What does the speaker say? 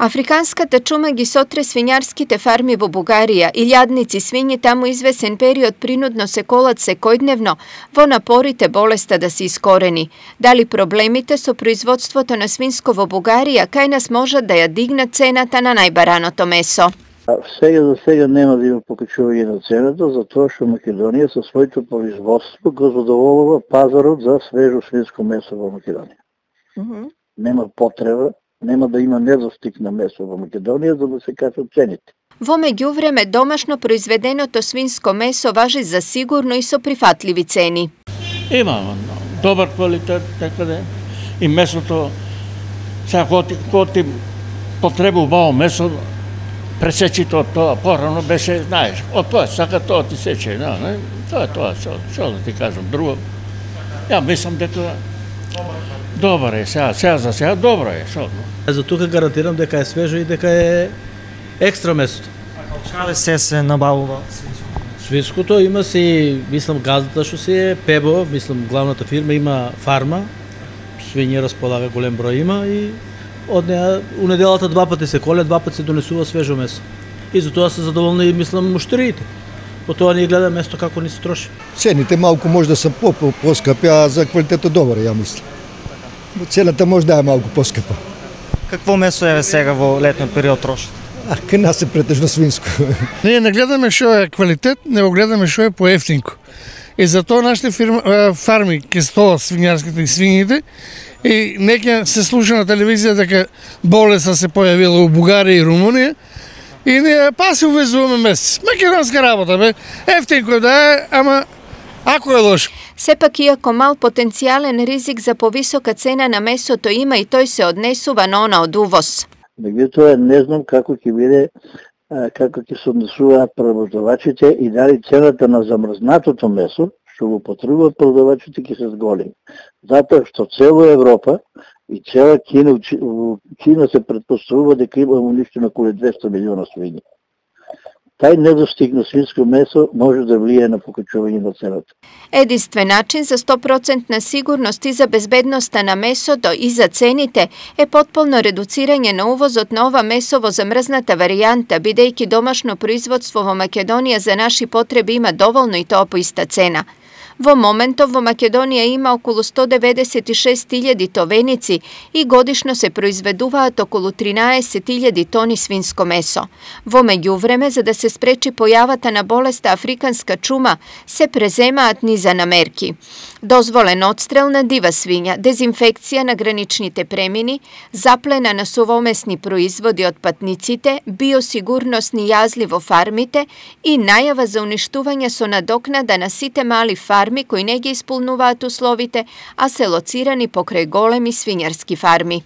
Африканската чума ги сотре свињарските фарми во Бугарија. Илјадници свињи таму извесен период принудно се колат секојдневно во напорите болеста да се искорени. Дали проблемите со производството на свинско во Бугарија кај нас можат да ја дигнат цената на најбараното месо? За сега нема да има покачување на цената, затоа што Македонија со своето производство го задоволува пазарот за свежо свинско месо во Македонија. Нема потреба, нема да има недостиг на месо во Македонија за да се качат цените. Во меѓувреме, домашно произведеното свинско месо важи за сигурно и со прифатливи цени. Има добар квалитет некаде и месото, сега кога ти потребува убаво месо, пресечите од тоа, порано беше, знаеш, од тоа сака тоа ти сече, не? Тоа е тоа, што да ти кажам, друго. Ја мислам дека добар е, сега за сега добро е, што? За тука гарантирам дека е свежо и дека е екстра месото. Каде се набавува? Свинското има си, мислам, газдата што си е Пебо, мислам, главната фирма има фарма, свињи располага голем број има и од неа у неделата два пати се коле, два пати се донесува свежо месо. И затоа се задоволни и мислам муштериите. По тоа ние гледаме место како ни се троши. Цените малку може да се поскапи, а за квалитетот добар, ја мислам. Цената може да е малку поскапа. Какво месо е сега во летниот период трошите? Кај нас е претежно свинско. Ние не гледаме што е квалитет, него гледаме што е поевтинко. И затоа нашите фарми ке стоат свињарските и свињите и нека се слуша на телевизија дека болеста се појавила у Бугарија и Румунија и ние се увезуваме месец. Македонска работа, бе. Ефтинко да е, ама ако е лошо. Сепак, иако мал потенцијален ризик за повисока цена на месото има и тој се однесува на она од увоз. Меѓутоа не знам како ќе биде, како ќе се однесуваат преработвачите и дали цената на замрзнатото месо што го потребуваат продавачите ќе се зголеми. Затоа што цела Европа и цела Кина се претпоставува дека има уништено околу 200 милиона свињи. Тај недостиг на свинско месо може да влие на покачување на цената. Единствен начин за 100% сигурност и за безбедноста на месото и за цените е потполно редуцирање на увозот на ова месо во замрзната варијанта, бидејќи домашно производство во Македонија за наши потреби има доволно и тоа по иста цена. Во моментов во Македонија има околу 196.000 товеници и годишно се произведуваат околу 13.000 тони свинско месо. Во меѓувреме, за да се спречи појавата на болеста африканска чума, се преземаат низа мерки. Дозволен одстрел на дива свиња, дезинфекција на граничните премини, заплена на совомесни производи од патниците, биосигурносни јазли во фармите и најава за уништување со надокнада на сите мали фарми кои не ги исполнуваат условите, а се лоцирани покрај големи свињарски фарми.